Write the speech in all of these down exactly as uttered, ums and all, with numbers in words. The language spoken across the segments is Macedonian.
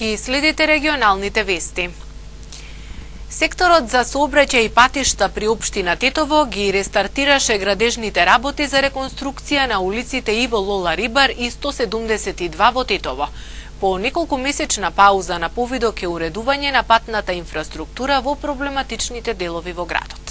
Ги следите регионалните вести. Секторот за сообраќај и патишта при општина Тетово ги рестартираше градежните работи за реконструкција на улиците Иво Лола Рибар и сто седумдесет и два во Тетово. По неколку месечна пауза на повидок е уредување на патната инфраструктура во проблематичните делови во градот.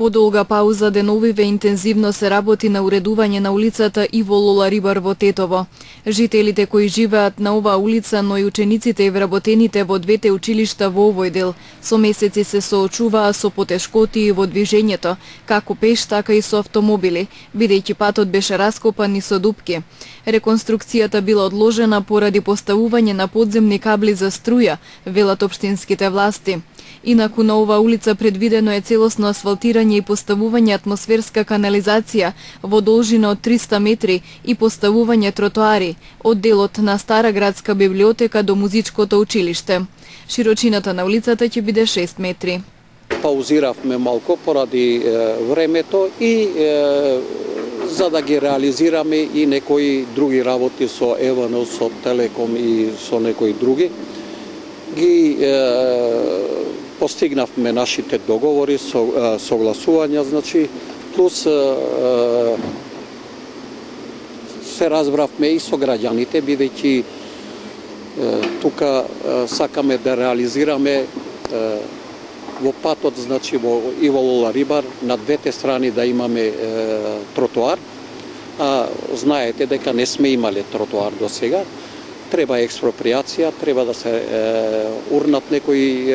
По долга пауза деновиве интензивно се работи на уредување на улицата Иво Лола Рибар во Тетово. Жителите кои живеат на оваа улица, но и учениците и вработените во двете училишта во овој дел, со месеци се соочуваа со потешкоти во движењето, како пеш, така и со автомобили, бидејќи патот беше раскопан и со дупки. Реконструкцијата била одложена поради поставување на подземни кабли за струја, велат општинските власти. Инаку на оваа улица предвидено е целосно асфалтирање и поставување атмосферска канализација во должина од триста метри и поставување тротоари од делот на Стара градска библиотека до музичкото училиште. Широчината на улицата ќе биде шест метри. Паузиравме малку поради е, времето и е, за да ги реализираме и некои други работи со Евано, со Телеком и со некои други. Ги е, постигнавме нашите договори, со, согласувања, значи, плюс се разбравме и со граѓаните, бидејќи тука сакаме да реализираме во патот, значи во Иво Лола Рибар, на двете страни да имаме тротоар, а знаете дека не сме имале тротоар до сега. Треба експроприација, треба да се е, урнат некои е,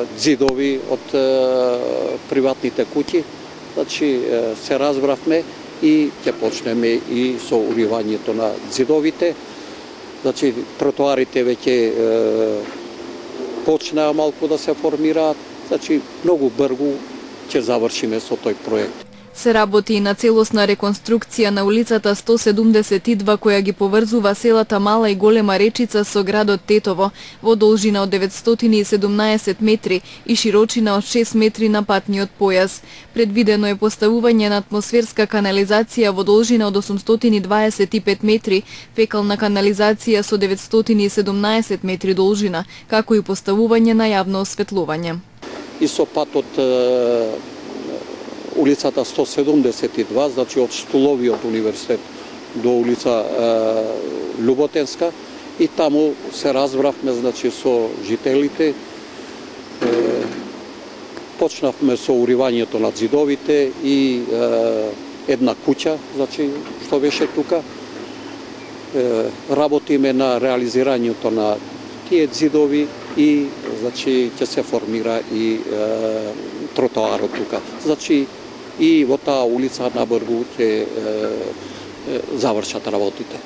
ѕидови од е, приватните куќи. Значи е, се разбравме и ќе почнеме и со уривањето на ѕидовите. Значи тротоарите веќе е, почнаа малку да се формираат. Значи многу брзо ќе завршиме со тој проект. Се работи и на целосна реконструкција на улицата сто седумдесет и два која ги поврзува селата Мала и Голема Речица со градот Тетово во должина од деветстотини и седумнаесет метри и широчина од шест метри на патниот појас. Предвидено е поставување на атмосферска канализација во должина од осумстотини дваесет и пет метри, фекална канализација со деветстотини и седумнаесет метри должина, како и поставување на јавно осветлување. И со патот улицата сто седумдесет и два, значи од Стуловиот универзитет до улица е, Люботенска, и таму се разбравме, значи, со жителите. Е, почнавме со уривањето на ѕидовите и е, една куќа, значи, што беше тука. Е, работиме на реализирањето на тие ѕидови и, значи, ќе се формира и е, тротоарот тука. Значи, и во таа улица набрзо ќе завршат работите.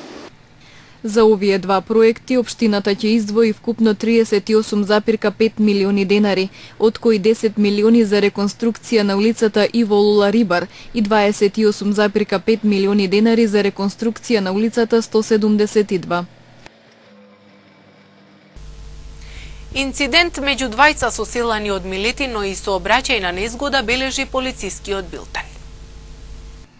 За овие два проекти општината ќе издвои вкупно триесет и осум запирка пет милиони денари, од кои десет милиони за реконструкција на улицата Иво Лола Рибар и дваесет и осум запирка пет милиони денари за реконструкција на улицата сто седумдесет и два. Инцидент меѓу двајца соселани од Милетино и сообраќајна незгода бележи полицискиот билтен.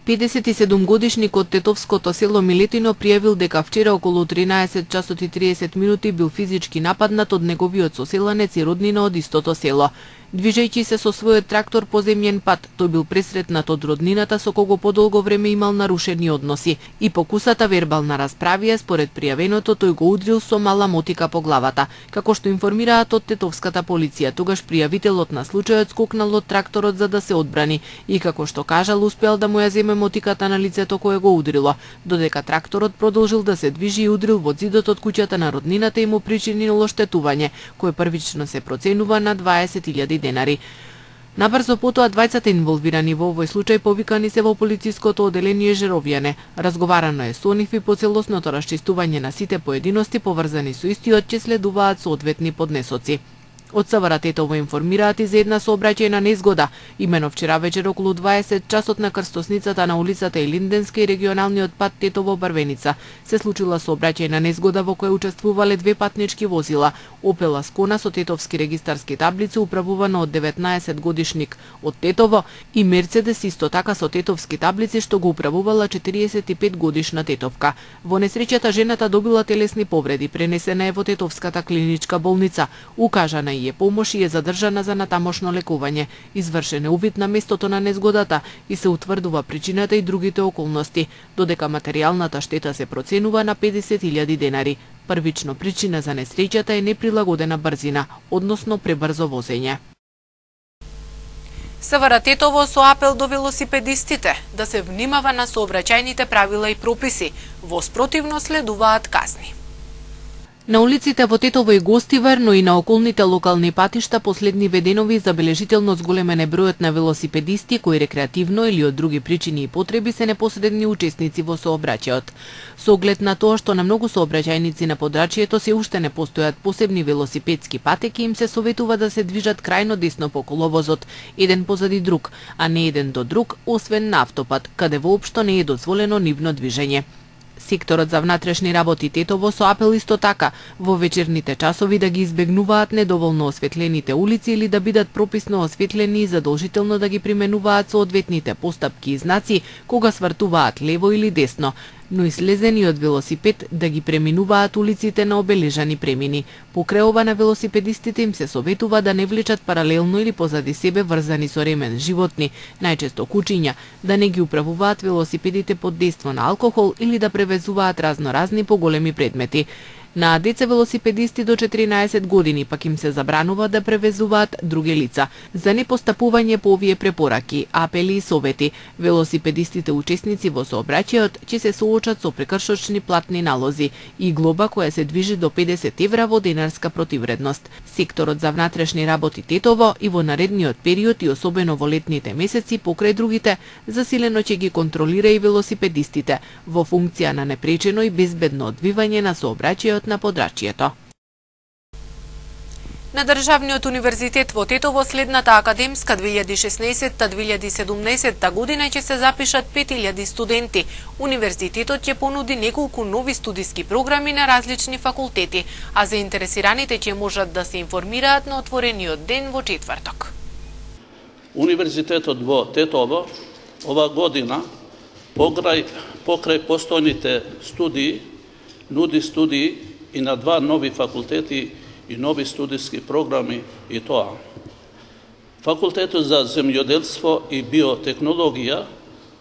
педесет и седум годишникот тетовското село Милетино пријавил дека вчера околу тринаесет часот и триесет минути бил физички нападнат од неговиот соселанец и роднина од истото село. Движејќи се со својот трактор по земјен пат, тој бил пресретнат од роднината со кого подолго време имал нарушени односи и покусата вербална расправија, според пријавеното, тој го удрил со мала мотика по главата. Како што информираат од тетовската полиција, тогаш пријавителот на случајот скокнал од тракторот за да се одбрани и, како што кажал, успеал да му ја земе мотиката на лицето кое го удрило, додека тракторот продолжил да се движи и удрил во ѕидот од куќата на роднината и му причинило штетување, кое првично се проценува на дваесет илјади денари. Набрзо потоа двајцата инволвирани во овој случај повикани се во полициското оделение Жеровјане. Разговарано е со нив и по целосното расчистување на сите поединости поврзани со истиот ќе следуваат соодветни поднесоци. Од СВР Тетово информираат и за една сообраќајна незгода. Имено вчера вечер околу дваесет часот на крстосницата на улицата Илинденска и регионалниот пат Тетово Барвеница се случила сообраќајна незгода во која учествувале две патнички возила. Опел Аскона со тетовски регистарски таблици управувана од деветнаесет годишник од Тетово и Мерцедес исто така со тетовски таблици што го управувала четириесет и пет годишна тетовка. Во несреќата жената добила телесни повреди, пренесена е во Тетовската клиничка болница. Укажана е помош и е задржана за натамошно лекување. Извршен е увид на местото на незгодата и се утврдува причината и другите околности, додека материјалната штета се проценува на педесет илјади денари. Првично причина за несреќата е неприлагодена брзина, односно пребрзо возење. СВР Тетово со апел до велосипедистите да се внимава на сообраќајните правила и прописи, во спротивно следуваат казни. На улиците во Тетово и Гостивар, но и на околните локални патишта последниве денови забележително зголемен е бројот на велосипедисти кои рекреативно или од други причини и потреби се непосредни учесници во сообраќајот. Со оглед на тоа што на многу сообраќајници на подрачјето се уште не постојат посебни велосипедски патеки, им се советува да се движат крајно десно по коловозот, еден позади друг, а не еден до друг, освен на автопат, каде воопшто не е дозволено нивно движење. Секторот за внатрешни работи Тетово со апел исто така во вечерните часови да ги избегнуваат недоволно осветлените улици или да бидат прописно осветлени и задолжително да ги применуваат соодветните постапки и знаци кога свртуваат лево или десно, но и слезени од велосипед да ги преминуваат улиците на обележани премини. Покрај ова на велосипедистите им се советува да не влечат паралелно или позади себе врзани со ремен животни, најчесто кучиња, да не ги управуваат велосипедите под дејство на алкохол или да превезуваат разноразни поголеми предмети. На деца велосипедисти до четиринаесет години пак им се забранува да превезуваат други лица. За непостапување по овие препораки, апели и совети, велосипедистите учесници во сообраќајот ќе се соочат со прекршочни платни налози и глоба која се движи до педесет евра во денарска противредност. Секторот за внатрешни работи Тетово и во наредниот период и особено во летните месеци покрај другите, засилено ќе ги контролира и велосипедистите во функција на непречено и безбедно одвивање на сообраќајот на подрачјето. На Државниот универзитет во Тетово следната академска две илјади и шеснаесетта - две илјади и седумнаесетта година ќе се запишат пет илјади студенти. Универзитетот ќе понуди неколку нови студиски програми на различни факултети, а заинтересираните ќе можат да се информираат на отворениот ден во четврток. Универзитетот во Тетово ова година покрај покрај постојните студии нуди студии и на два нови факултети и нови студиски програми и тоа. Факултетот за земјоделство и биотехнологија,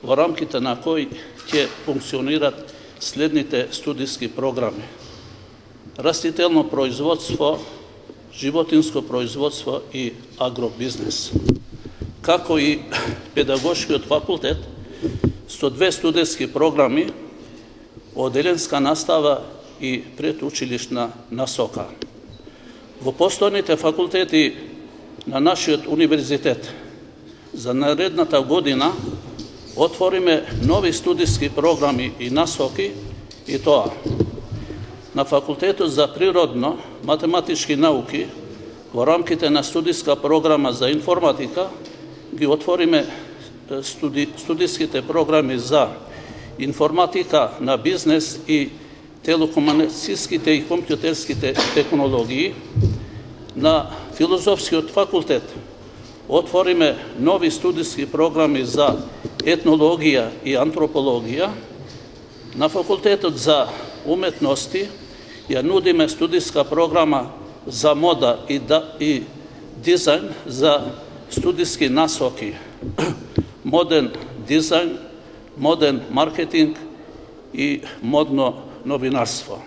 во рамките на кој ќе функционират следните студиски програми: растително производство, животинско производство и агробизнес, како и педагошкиот факултет со две студиски програми, оделенска настава и предучилишна насока. Во постојните факултети на нашиот универзитет за наредната година отвориме нови студиски програми и насоки и тоа: на факултетот за природно математички науки во рамките на студиска програма за информатика ги отвориме студи, студиските програми за информатика на бизнес и телекомуникацијските и компјутерските технологии. На филозофскиот факултет отвориме нови студиски програми за етнологија и антропологија. На факултетот за уметности ја нудиме студиска програма за мода и, да, и дизајн за студиски насоки: моден дизајн, моден маркетинг и модно новинарство.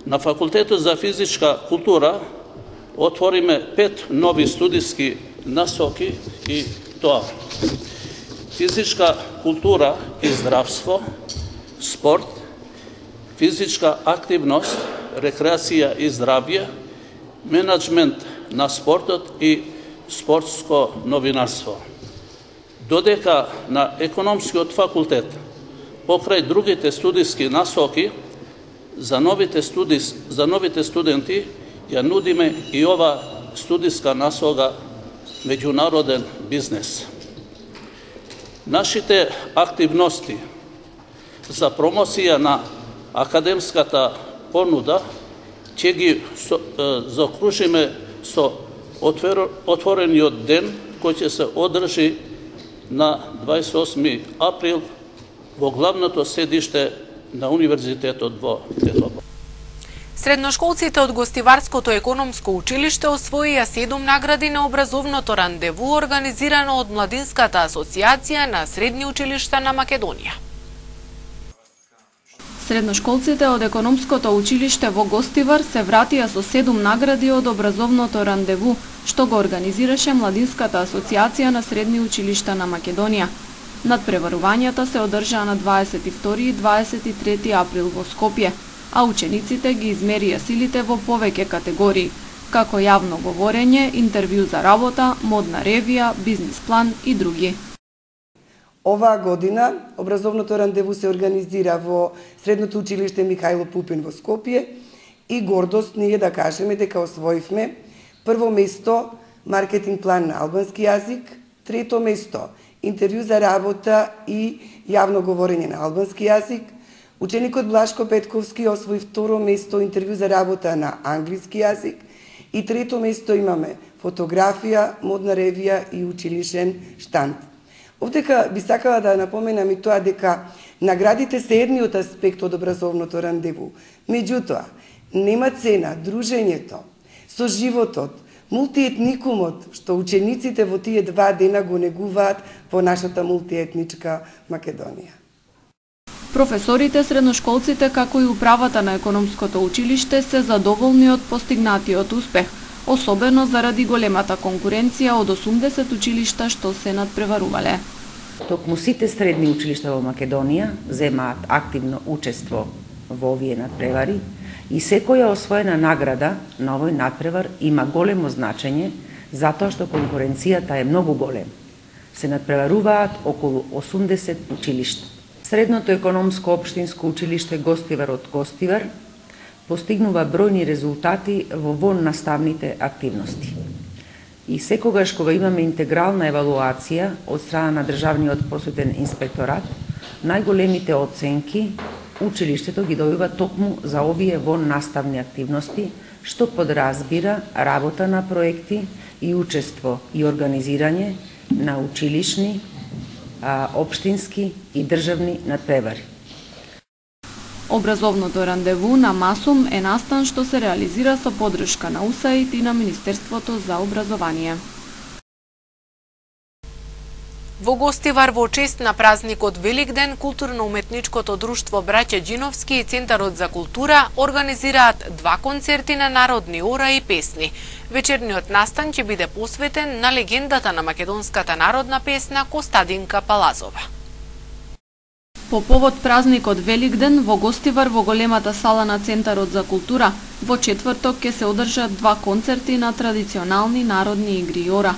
На факултетот за физичка култура отвориме пет нови студиски насоки и тоа: физичка култура и здравство, спорт, физичка активност, рекреација и здравје, менеджмент на спортот и спортско новинарство. Додека на економскиот факултет, покрај другите студиски насоки, за новите, студи, за новите студенти ја нудиме и ова студиска наслога меѓународен бизнес. Нашите активности за промоција на академската понуда ќе ги закружиме со отворениот ден кој ќе се одржи на дваесет и осми април во главното седиште на Универзитетот во Тетово. Средношколците од Гостиварското економско училиште освоија седум награди на образовното рандеву организирано од Младинската асоциација на средни училишта на Македонија. Средношколците од економското училиште во Гостивар се вратија со седум награди од образовното рандеву, што го организираше Младинската асоциација на средни училишта на Македонија. Надпреварувањата се одржаа на дваесет и втори и дваесет и трети април во Скопје, а учениците ги измерија силите во повеќе категории, како јавно говорење, интервју за работа, модна ревија, бизнис план и други. Оваа година образовното рандеву се организира во Средното училиште Михајло Пупин во Скопје и гордост ни е да кажеме дека освоивме прво место маркетинг план на албански јазик, трето место интервју за работа и јавно говорење на албански јазик, ученикот Блашко Петковски освои второ место интервју за работа на англиски јазик и трето место имаме фотографија, модна ревија и училишен штанд. Овдека би сакала да напоменам и тоа дека наградите се едниот аспект од образовното рандеву. Меѓутоа, нема цена дружењето со животот, мултиетникумот, што учениците во тие два дена го негуваат во нашата мултиетничка Македонија. Професорите, средношколците, како и управата на економското училиште се задоволни од постигнатиот успех, особено заради големата конкуренција од осумдесет училишта што се надпреварувале. Токму сите средни училишта во Македонија земаат активно учество во овие надпревари и секоја освоена награда на овој надпревар има големо значење затоа што конкуренцијата е многу голема. Се надпреваруваат околу осумдесет училишта. Средното економско општинско училиште Гостивар од Гостивар постигнува бројни резултати во воннаставните активности. И секогаш кога имаме интегрална евалуација од страна на Државниот просветен инспекторат, најголемите оценки училиштето ги добива токму за овие воннаставни активности, што подразбира работа на проекти и учество и организирање на училишни, општински и државни надпревари. Образовното рандеву на МАСУМ е настан што се реализира со поддршка на УСАИД и на Министерството за образование. Во Гостивар во чест на празникот Великден, културно-уметничкото друштво Браќа Џиновски и Центарот за култура организираат два концерти на народни ора и песни. Вечерниот настан ќе биде посветен на легендата на македонската народна песна Костадинка Палазова. По повод празникот Великден во Гостивар во големата сала на Центарот за култура во четврток ќе се одржат два концерти на традиционални народни игри и ора.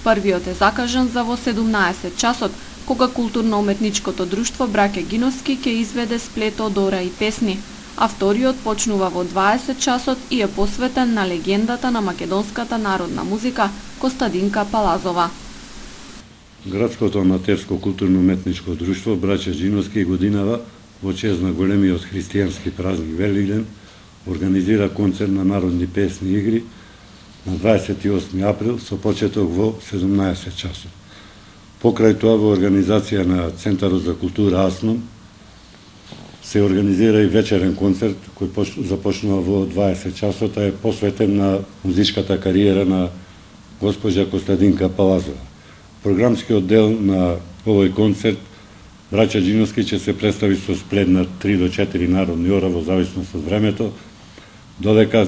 Првиот е закажан за во седумнаесет часот, кога културно-уметничкото друштво Браќа Ѓиновски ќе изведе сплет од ора и песни, а вториот почнува во дваесет часот и е посветен на легендата на македонската народна музика Костадинка Палазова. Градското аматерско културно-уметничко друштво Браќа Ѓиновски годинава во чест на големиот христијански празник Великден организира концерт на народни песни и игри на дваесет и осми април со почеток во седумнаесет часот. Покрај тоа во организација на Центарот за култура АСНОМ се организира и вечерен концерт кој започнува во дваесет часот, а е посветен на музичката кариера на госпоѓа Костадинка Палазова. Програмскиот дел на овој концерт Браќа Ѓиновски ќе се представи со сплет на три до четири народни ора во зависност од времето, додека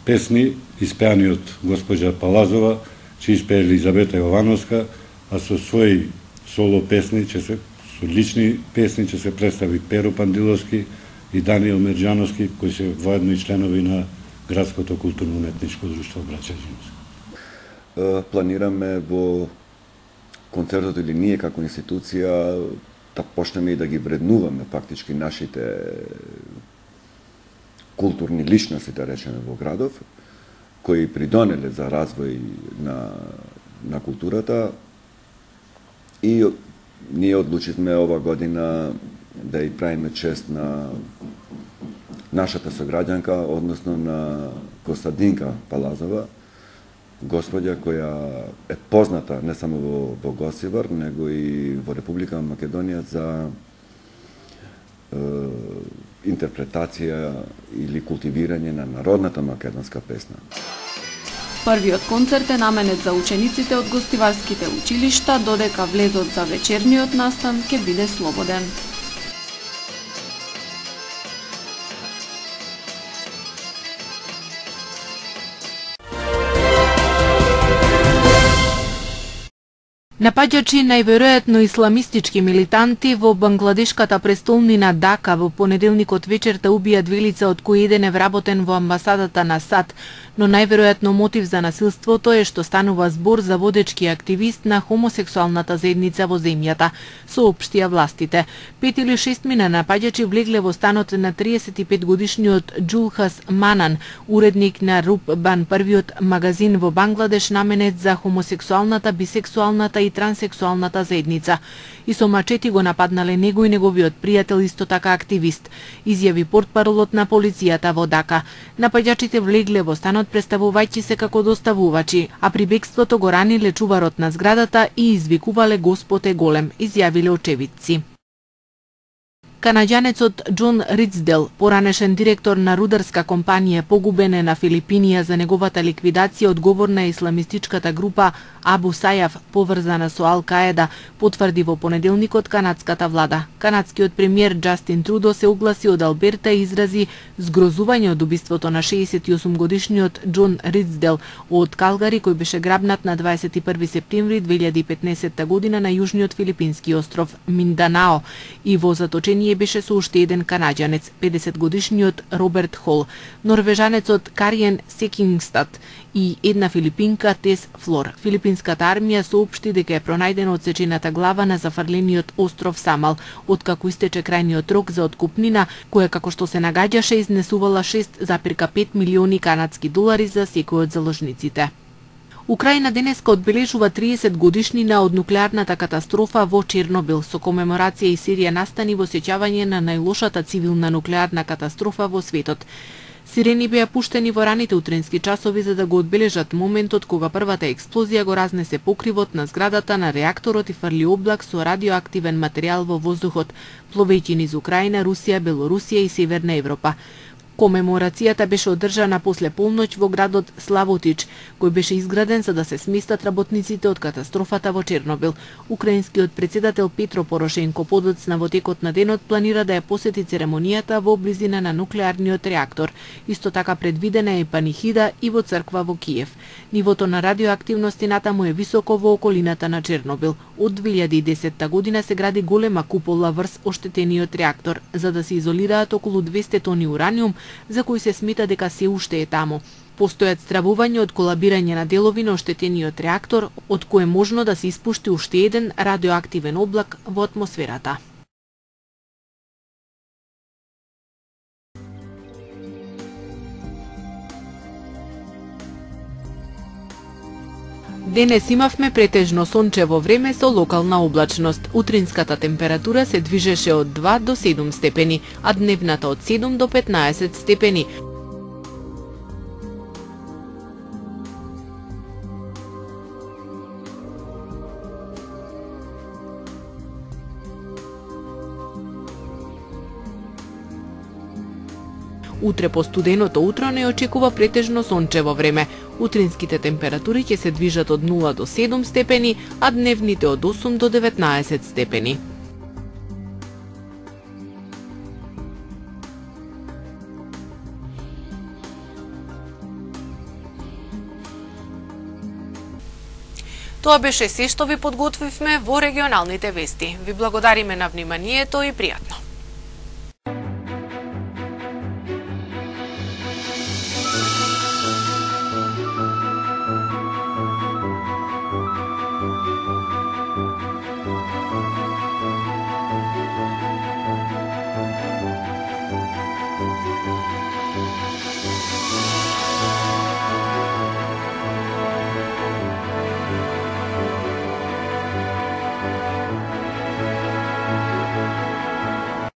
песни испеани од госпоѓа Палазова ќе испее Елизабета Јовановска, а со своји соло песни ќе се со лични песни ќе се представи Перо Пандиловски и Даниел Мерџановски, кои се воедно и членови на Градското културно-уметничко друштво Браќа Ѓиновски. Планираме во концертот или ние како институција да почнеме и да ги вреднуваме фактички нашите културни личности, да речеме, во градов. кои придонеле за развој на, на културата и ние одлучивме ова година да и правиме чест на нашата сограѓанка, односно на Костадинка Палазова, господја која е позната не само во, во Госивар, него и во Република Македонија за е, интерпретација или култивирање на народната македонска песна. Првиот концерт е наменет за учениците од гостиварските училишта, додека влезот за вечерниот настан ќе биде слободен. Напаѓачи најверојатно исламистички милитанти во бангладешката престолнина Дака во понеделникот вечерта убија две лица од кои еден е вработен во амбасадата на САД, но најверојатно мотив за насилството е што станува збор за водечки активист на хомосексуалната заедница во земјата, соопштија властите. Пет или шестмина напаѓачи влегле во станот на триесет и пет годишниот Џулхас Манан, уредник на Рупбан, првиот магазин во Бангладеш наменет за хомосексуалната, бисексуалната и транссексуалната заедница. И со мачети го нападнале него и неговиот пријател, исто така активист, изјави портпаролот на полицијата во Дака. Напаѓачите влегле во станот представувајќи се како доставувачи, а при бегството го раниле чуварот на зградата и извикувале Господ е голем, изјавиле очевидци. Канаѓанецот Џон Рицдел, поранешен директор на рударска компанија, погубен е на Филипинија за неговата ликвидација одговорна исламистичката група Абу Сајаф, поврзана со Ал-Каеда, потврди во понеделникот канадската влада. Канадскиот премиер Џастин Трудо се огласи од Алберта и изрази згрозување од убиството на шеесет и осум годишниот Џон Рицдел од Калгари, кој беше грабнат на дваесет и први септември две илјади и петнаесетта година на јужниот филипински остров Минданао и во заточение беше со уште еден канаѓанец, педесет годишниот Роберт Хол, норвежанецот Кариен Секингстад и една филипинка Тес Флор. Филипинската армија соопшти дека е пронајдена одсечената глава на зафрлениот остров Самал, откако истече крајниот рок за откупнина, која како што се нагаѓаше изнесувала шест зарез пет милиони канадски долари за секој од заложниците. Украина денеска одбележува триесет годишнина од нуклеарната катастрофа во Чернобил, со комеморација и серија настани во сеќавање на најлошата цивилна нуклеарна катастрофа во светот. Сирени беа пуштени во раните утрински часови за да го одбележат моментот кога првата експлозија го разнесе покривот на зградата на реакторот и фрли облак со радиоактивен материјал во воздухот, пловејќи низ Украина, Русија, Белорусија и Северна Европа. Комеморацијата беше одржана после полноќ во градот Славотич, кој беше изграден за да се сместат работниците од катастрофата во Чернобил. Украинскиот председател Петро Порошенко подоцна во текот на денот планира да ја посети церемонијата во близина на нуклеарниот реактор. Исто така предвидена е панихида и во црква во Киев. Нивото на радиоактивност натаму е високо во околината на Чернобил. Од две илјади и десетта година се гради голема купола врз оштетениот реактор, за да се изолираат околу двесте тони ураниум, за кој се смета дека се уште е таму. Постојат стравување од колабирање на делови на оштетениот реактор, од кој е можно да се испушти уште еден радиоактивен облак во атмосферата. Денес имавме претежно сончево време со локална облачност. Утринската температура се движеше од два до седум степени, а дневната од седум до петнаесет степени. Утре по студеното утро не очекува претежно сончево време. Утринските температури ќе се движат од нула до седум степени, а дневните од осум до деветнаесет степени. Тоа беше се што ви подготвивме во регионалните вести. Ви благодариме на вниманието и пријатно.